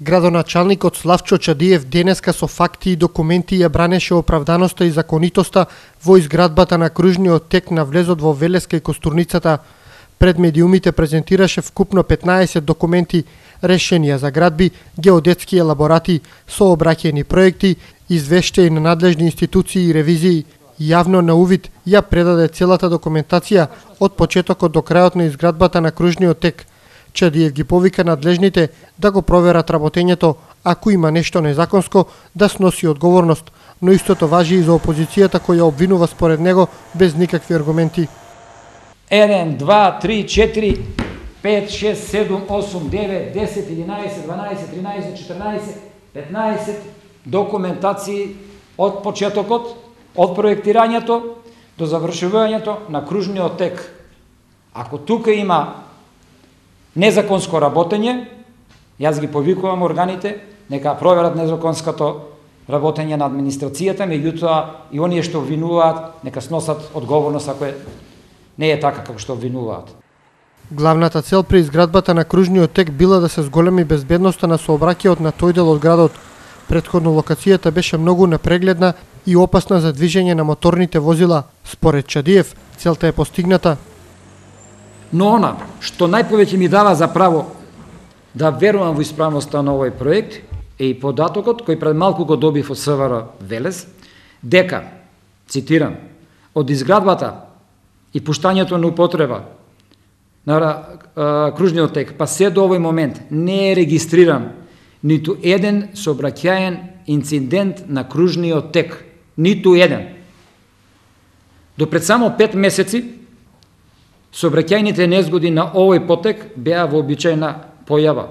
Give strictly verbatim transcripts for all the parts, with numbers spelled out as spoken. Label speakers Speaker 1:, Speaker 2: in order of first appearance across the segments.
Speaker 1: Градоначалникот Славчо Чадиев денеска со факти и документи ја бранеше оправданоста и законитоста во изградбата на кружниот тек на влезот во Велеска и Костурницата. Пред медиумите презентираше вкупно петнаесет документи, решенија за градби, геодетски елаборати, сообраќајни проекти, извештаи на надлежни институции и ревизии. Јавно на увид ја предаде целата документација од почетокот до крајот на изградбата на кружниот тек. Чадиев ги повика надлежните да го проверат работењето, ако има нешто незаконско, да сноси одговорност, но истото важи и за опозицијата која обвинува според него без никакви аргументи.
Speaker 2: еден, два, три, четири, пет, шест, седум, осум, девет, десет, единаесет, дванаесет, тринаесет, четирнаесет, петнаесет документации од почетокот, од проектирањето до завршувањето на кружниот тек. Ако тука има незаконско работење, јас ги повикувам органите, нека проверат незаконското работење на администрацијата, меѓутоа и оние што обвинуваат, нека сносат одговорност ако не е така како што обвинуваат.
Speaker 1: Главната цел при изградбата на кружниот тек била да се зголеми безбедноста на сообраќајот на тој дел од градот. Предходно локацијата беше многу непрегледна и опасна за движење на моторните возила. Според Чадиев, целта е постигната.
Speaker 2: Но она што најповеќе ми дава за право да верувам во исправноста на овој проект е и податокот кој пред малку го добив од СВР Велес, дека, цитирам, од изградбата и пуштањето на употреба на а, кружниот тек, па се до овој момент не е регистриран ниту еден сообраќаен инцидент на кружниот тек. Ниту еден. До пред само пет месеци, сообраќајните незгоди на овој потек беа вообичајна појава.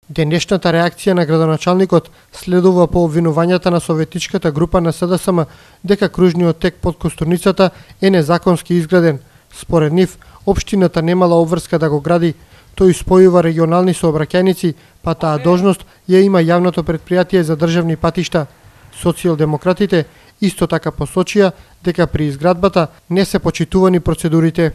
Speaker 1: Денешната реакција на градоначалникот следува по обвинувањата на советичката група на СДСМ дека кружниот тек под Костурницата е незаконски изграден. Според нив, општината немала обврска да го гради. Тој спојува регионални сообраќајници, па таа должност ја има јавното претпријатие за државни патишта. Социјалдемократите исто така посочија дека при изградбата не се почитувани процедурите.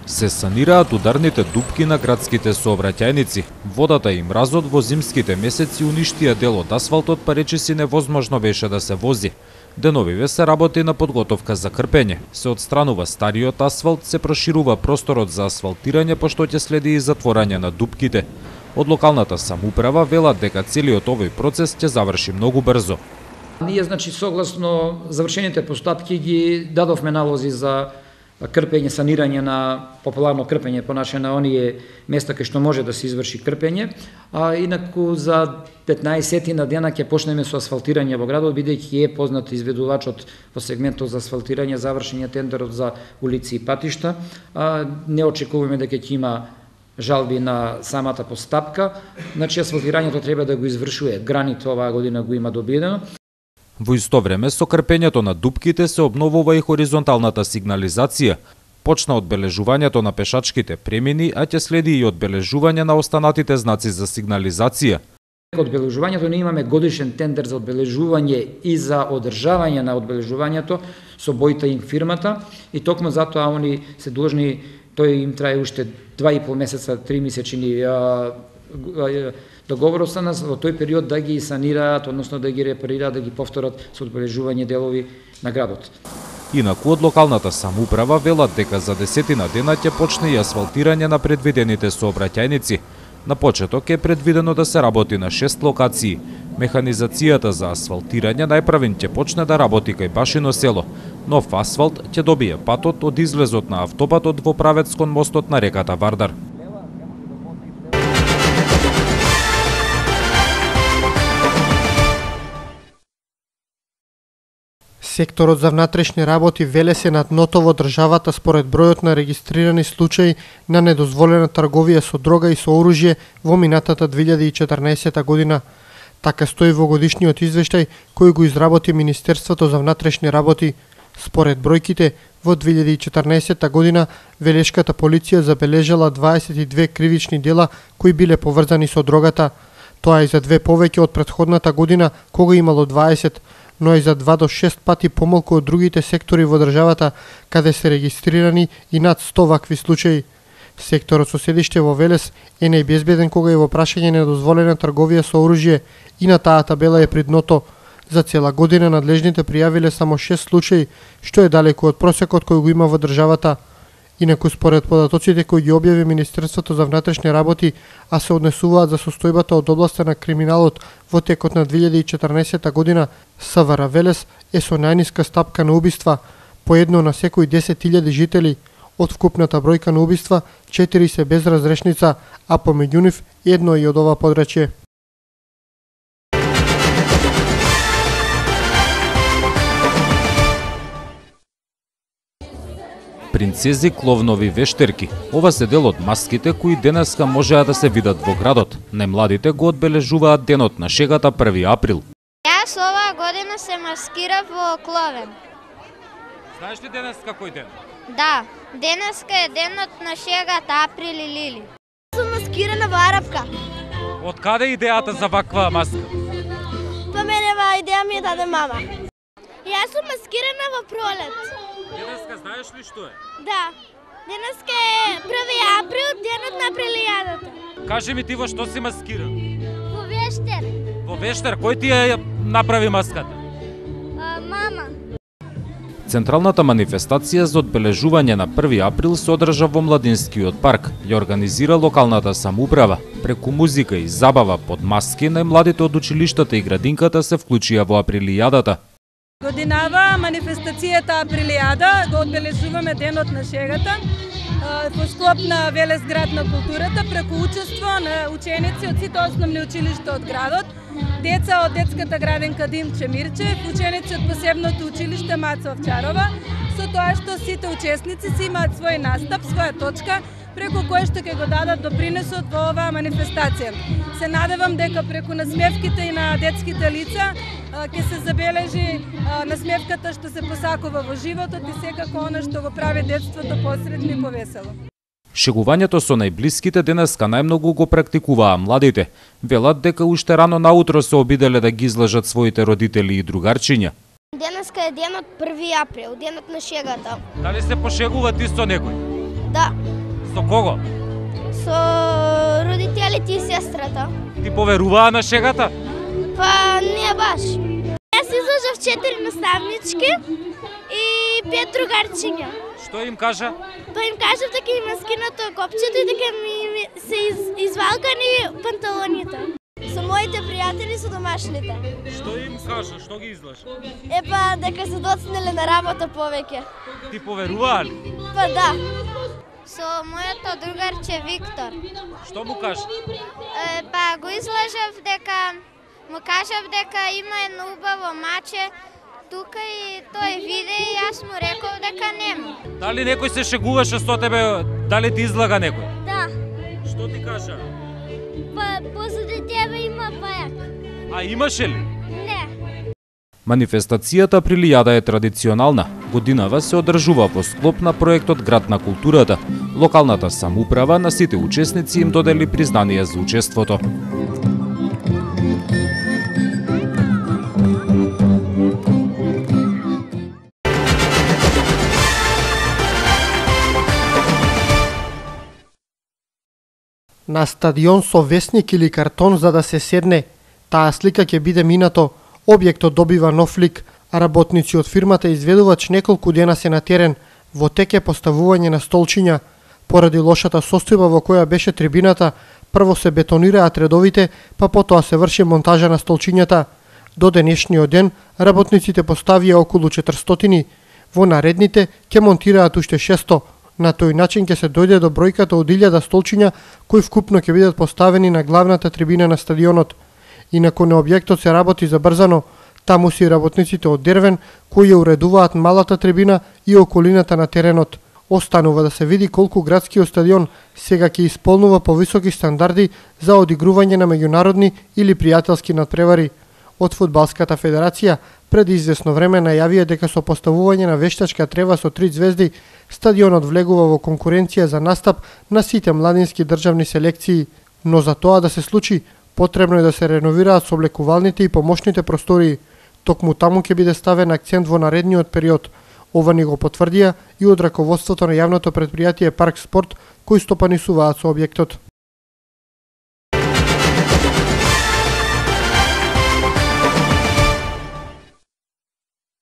Speaker 3: Се санираат ударните дупки на градските сообраќајници. Водата и мразот во зимските месеци уништија дел од асфалтот, па речиси невозможно беше да се вози. Деновиве се работи на подготовка за крпење. Се отстранува стариот асфалт, се проширува просторот за асфалтирање, пошто ќе следи и затворање на дупките. Од локалната самоуправа велат дека целиот овој процес ќе заврши многу брзо.
Speaker 2: Ние, значи, согласно завршените постапки ги дадовме налози за крпење, санирање на популарно крпење, понаше на оние места кај што може да се изврши крпење, а инаку за петнаесет на дена ќе почнеме со асфалтирање во градот, бидејќи е познат изведувачот во сегментот за асфалтирање, завршен е тендерот за улици и патишта. А, не очекуваме дека ќе има жалби на самата постапка, значи асфалтирањето треба да го извршува. Граните оваа година го има добиено.
Speaker 3: Во исто време со крпењето на дупките се обновува и хоризонталната сигнализација. Почна одбележувањето на пешачките премини, а ќе следи и одбележување на останатите знаци за сигнализација.
Speaker 2: Одбележувањето не имаме годишен тендер за одбележување и за одржавање на одбележувањето со бојта им фирмата и токму затоа они се должни, тој им трае уште два и пол месеца, три месечини договорот со нас во тој период да ги санираат, односно да ги репарираат, да ги повторат со одбележување делови на градот.
Speaker 3: Инаку од локалната самоуправа велат дека за десетина дена ќе почне и асфалтирање на предвидените сообраќајници. На почеток е предвидено да се работи на шест локации. Механизацијата за асфалтирање најпрвен ќе почне да работи кај Башино село. Нов асфалт ќе добие патот од излезот на автобатот во правец кон мостот на реката Вардар.
Speaker 1: Секторот за внатрешни работи Велес е на дното во државата според бројот на регистрирани случаи на недозволена трговија со дрога и со оружје во минатата две илјади и четрнаесета година. Така стои во годишниот извештај кој го изработи Министерството за внатрешни работи. Според бројките, во две илјади и четрнаесета година велешката полиција забележала дваесет и две кривични дела кои биле поврзани со дрогата. Тоа е за две повеќе од претходната година кога имало дваесет, но и за два до шест пати помалку од другите сектори во државата, каде се регистрирани и над сто вакви случаи. Секторот со седиште во Велес е најбезбеден кога е во прашање недозволена трговија со оружје и на таа табела е при дното. За цела година надлежните пријавиле само шест случаи, што е далеку од просекот кој го има во државата. Инаку според податоците кои ги објави Министерството за внатрешни работи, а се однесуваат за состојбата од областа на криминалот во текот на две илјади и четрнаесетта година, СВР Велес е со најниска стапка на убиства, по едно на секој десет илјади жители. Од вкупната бројка на убиства, четири се без разрешница, а помеѓу нив едно и од ова подрачје.
Speaker 3: Принцези, кловнови, вештерки. Ова се дел од маските кои денеска можеа да се видат во градот. Најмладите го одбележуваат денот на шегата први април.
Speaker 4: Јас оваа година се маскирав во кловен.
Speaker 3: Знаеш ли денеска кој ден?
Speaker 4: Да, денеска е денот на шегата април и лили.
Speaker 5: Сум маскирана во арапка.
Speaker 3: Од каде идејата за ваква маска?
Speaker 5: Па мене ва идеја ми е даде мама. Јас сум маскирана во пролет.
Speaker 3: Денеска знаеш ли што е?
Speaker 5: Да. Денеска е први април, денот на прелијадата.
Speaker 3: Кажи ми ти во што си маскиран?
Speaker 5: Во вештер.
Speaker 3: Во вештер, кој ти ја направи маската?
Speaker 5: А, мама.
Speaker 3: Централната манифестација за одбележување на први април се одржа во Младинскиот парк. Ја организира локалната самоуправа. Преку музика и забава под маски, најмладите од училиштата и градинката се вклучија во априлијадата.
Speaker 6: Годинава манифестацијата Априлијада го одбележуваме денот на шегата во склоп на Велес град на културата преку учество на ученици од сите основни училишта од градот, деца од детската градинка Димче Мирчев, ученици од посебното училиште Маца Овчарова, со тоа што сите учесници си имаат свој настап, своја точка, преку кој што ќе го дадат допринесот во оваа манифестација. Се надевам дека преку насмевките и на детските лица ќе се забележи насмевката што се посакува во животот и секако она што го прави детството посредно и повесело.
Speaker 3: Шегувањето со најблиските денеска најмногу го практикуваа младите. Велат дека уште рано наутро се обиделе да ги излажат своите родители и другарчиња.
Speaker 5: Денеска е денот први април, денот на шегата.
Speaker 3: Дали се пошегува ти со некој?
Speaker 5: Да.
Speaker 3: Со кого?
Speaker 5: Со родителите и сестрата.
Speaker 3: Ти поверуваа на шегата?
Speaker 5: Па не баш. Јас излажав четири наставнички и пет другарчиња.
Speaker 3: Што им кажа?
Speaker 5: Па им кажав дека им е скинато копчето и дека ми се из, извалкани панталоните. Со моите пријатели, со домашните.
Speaker 3: Што им кажа? Што ги излажа?
Speaker 5: Епа дека се доцнеле на работа повеќе.
Speaker 3: Ти поверуваа ли?
Speaker 5: Па да.
Speaker 4: Со моето другарче Виктор.
Speaker 3: Што му кажа?
Speaker 4: Е, па го излажав дека му кажав дека има едно убаво маче тука и тој виде и јас му реков дека нема.
Speaker 3: Дали некој се шегуваше со тебе, дали ти излага некој?
Speaker 5: Да.
Speaker 3: Што ти кажа?
Speaker 5: Па позади тебе има пајак.
Speaker 3: А имаше ли?
Speaker 5: Не.
Speaker 3: Манифестацијата Априлијада е традиционална. Годинава се одржува во склоп на проектот Град на културата. Локалната самоуправа на сите учесници им додели признание за учеството.
Speaker 1: На стадион со весник или картон за да се седне, таа слика ќе биде минато, објектот добива нов лик, а работници од фирмата изведувач неколку дена се на терен, во тек е поставување на столчиња. Поради лошата состојба во која беше трибината, прво се бетонираат редовите, па потоа се врши монтажа на столчињата. До денешниот ден, работниците поставија околу четиристотини, во наредните ќе монтираат уште шесто. На тој начин ќе се дојде до бројката од илјада столчиња кои вкупно ќе бидат поставени на главната трибина на стадионот. Инаку на објектот се работи забрзано, таму си работниците од Дервен кои ја уредуваат малата трибина и околината на теренот. Останува да се види колку градскиот стадион сега ќе исполнува повисоки стандарди за одигрување на меѓународни или пријателски надпревари. Од Фудбалската федерација пред извесно време најавија дека со поставување на вештачка трева со три звезди, стадионот влегува во конкуренција за настап на сите младински државни селекции. Но за тоа да се случи, потребно е да се реновираат соблекувалните и помошните простории. Токму таму ќе биде ставен акцент во наредниот период. Ова ни го потврдија и од раководството на јавното претпријатие Парк Спорт, кои стопанисуваат со објектот.